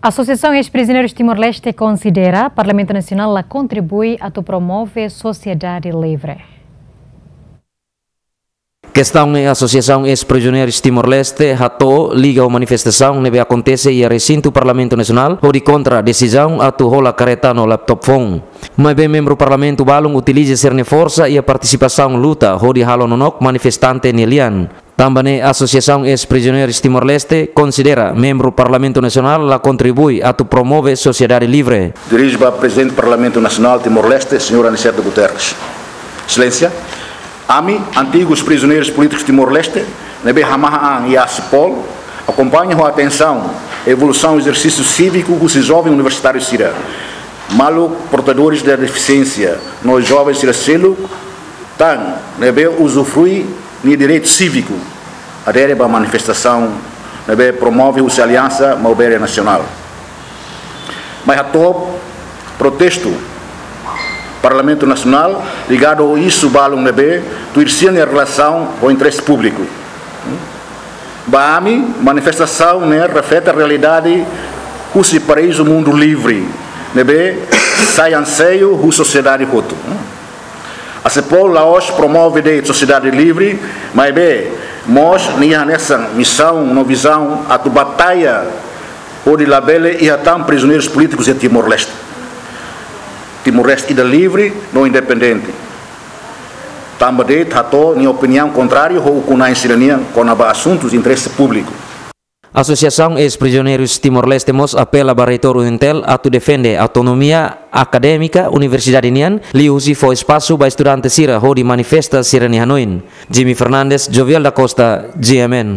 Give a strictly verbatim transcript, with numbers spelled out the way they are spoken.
Asosiasaun Eis-Prisioneirus Timor-Leste konsidera Parlamentu Nasionál la kontribui atu promove sosiedade livre. Kestaun ne'e Asosiasaun Eis-Prisioneirus Timor-Leste hato'o liga ho manifestasaun ne'ebé akontese iha resintu Parlamentu Nasionál hodi kontra desizaun atu hola kareta no laptop phone. Maibé membru parlamentu balun utiliza sira-nia forsa iha partisipasaun luta hodi halo nonook manifestante nia lian. Tanba ne'e Asosiasaun Eis-Prisioneirus Timor-Leste konsidera membru Parlamentu Nasionál la kontribui atu promove sosiedade livre. Dirije ba Prezidente Parlamentu Nasionál Timor-Leste, señór Aniceto Guterres. Exelénsia, ami, antigus prizioneirus polítikus Timor-Leste ne'ebé hamahan an iha ACIPOL, akompaña ho atensaun evolusaun ezersísiu síviku husi joven universitáriu sira, maluk portadores de defisiénsia no joven sira seluk tan ne'ebé uzufrui nia direitu síviku, adere ba manifestasaun ne'ebé promove husi Aliansa Maubere Nasionál. Mai hato'o protestu Parlamentu Nasionál ligadu ho isu balun ne'ebé tuir sira-nia relasaun ho interese públiku. Ba ami, manifestasaun ne'e reflete realidade husi paraízu mundu livre ne'ebé sai anseiu husi sosiedade hotu. ACIPOL la'ós promove de'it sosiedade livre, maibé mós nia hanesan misaun no vizaun atu batalla hodi labele iha tan prizioneirus polítikus iha Timor-Leste. Timor-Leste ida livre no independente. Tanba de'it hato'o nia opiniaun kontráriu ho ukun-na'in sira-nian kona-ba asuntus interese públiku. Asosiasaun Eis-Prisioneirus Timor-Leste mós apela ba Reitór UNTL atu defende autonomia akadémika universidade nian, liuhusi fó espasu ba estudante sira hodi manifesta sira-nia hanoin. Jimmy Fernandes, Jovial da Costa, G M N.